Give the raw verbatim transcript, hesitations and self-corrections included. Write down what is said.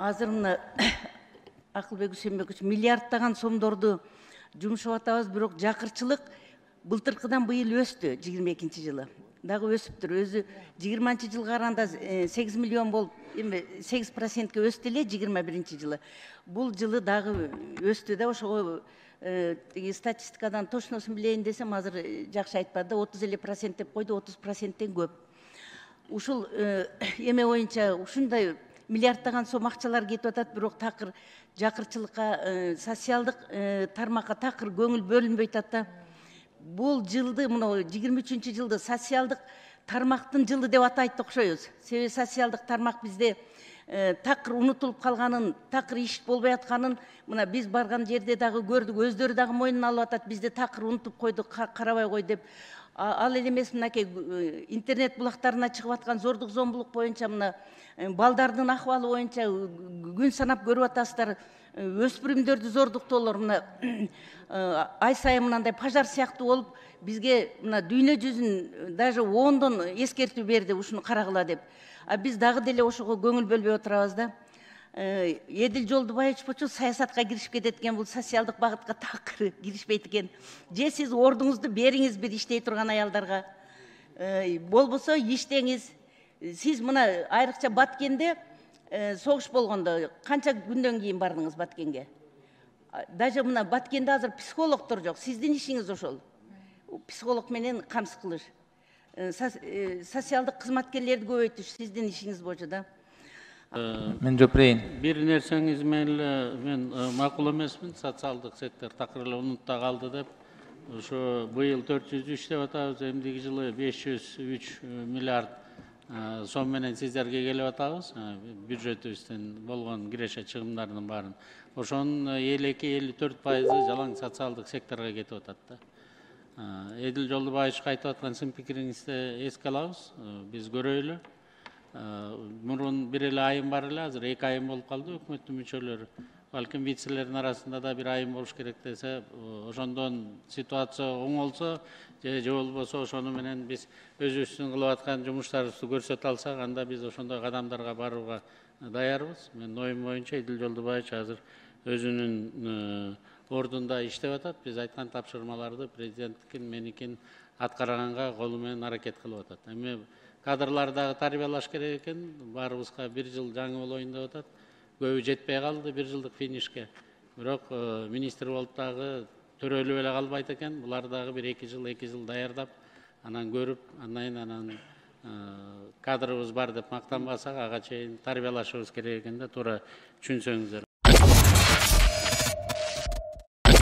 азыр мына Акылбек Үсенбекович миллиардтаган сомдорду жумшап атабыз, бирок жакырчылык былтыркыдан быйыл өстү. жыйырма экинчи жылы дагы өсүптүр. Өзү жыйырманчы жылга караганда сегиз миллион болуп, эми сегиз процентке өстү эле жыйырма биринчи жылы. Бул жылы дагы өстү да, ошого тиги статистикадан точносун билейин десем, азыр жакшы айтпады, отуз эле процент деп койду, отуз проценттен көп. Ушул эме боюнча ушундай миллиардтаган сом акчалар кетип атат, бирок такыр жакырчылыкка, социалдык тармакка такыр көңүл бөлүнбөй атат да. Бул жылды, мына жыйырма үчүнчү жылды социалдык тармактын жылы деп атайт окшойбуз. Себеби социалдык тармак бизде такыр унутулуп калганын, такыр иш болбой атканын мына биз барган жерде дагы көрдүк, өздөрү дагы мойнуна алып атат, бизди такыр унутуп койдук, карабай кой деп. Ал эле эмес, мынакей интернет булактарына чыгып аткан зордук зомбулук боюнча, мына балдардын акыбалы боюнча күн санап көрүп атасыздар. Өспүрүмдөрдү зордуктоолор мына ай сайын мындай пожар сыяктуу болуп, бизге мына дүйнө жүзүн даже ондон эскертүү берди, ушуну карагыла деп. А биз дагы деле ошого көңүл бөлбөй отурабыз да. Эдил Жолдубаевич болчу саясатка киришип кетет экен, бул социалдык багытка такыр киришпейт экен. Же сиз ордуңузду бериңиз бир иштей турган аялдарга, болбосо иштеңиз. Сиз мына айрыкча Баткенде согуш болгондо канча күндөн кийин бардыңыз Баткенге? Даже мына Баткенде азыр психологдор жок. Сиздин ишиңиз ошол. Психолог менен камсыз кылыш. Социалдык кызматкерлерди көбөйтүш сиздин ишиңиз болчу да. Мен жопурейин. Бир нерсеңиз менен мен макул эмесмин. Социалдык сектор такыр эле унутта калды деп. Ошо быйыл төрт жүз үч деп атабыз, эмдиги жылы беш жүз үч миллиард сом менен сиздерге келип атабыз. Бюджетибизден болгон киреше чыгымдардын баарын. Ошонун элүү эки элүү төрт пайызы жалаң социалдык секторго кетип атат да. Эдил Жолдубаевичке айтып аткан сын пикириңизди эске алабыз. Биз көрөйлү. Мурун бир эле айым бар эле, азыр эки айым болуп калды өкмөттүн мүчөлөрү. Балким вицелердин арасында да бир айым болуш керек десе, ошондон ситуация оңолсо, же же болбосо ошону менен биз өзүбүздүн кылып аткан жумуштарыбызды көрсөтө алсак, анда биз ошондой кадамдарга барууга даярбыз. Менин оюм боюнча Эдил Жолдубаевич азыр өзүнүн ордунда иштеп атат. Биз айткан тапшырмаларды президенттикин, меникин аткарганга колу менен аракет кылып атат. Эми кадрларды дагы тарбиялаш керек экен. Баарыбызга бир жыл жаңы болоюн деп атат. Көбү жетпей калды бир жылдык финишке. Бирок министр болуп дагы төрөлүп эле калбайт экен. Булар дагы бир эки жыл, эки жыл даярдап, анан көрүп, андан анан кадрыбыз бар деп мактанбасак, ага чейин тарбиялашыбыз керек экен да, туура түшүнсөңүздөр.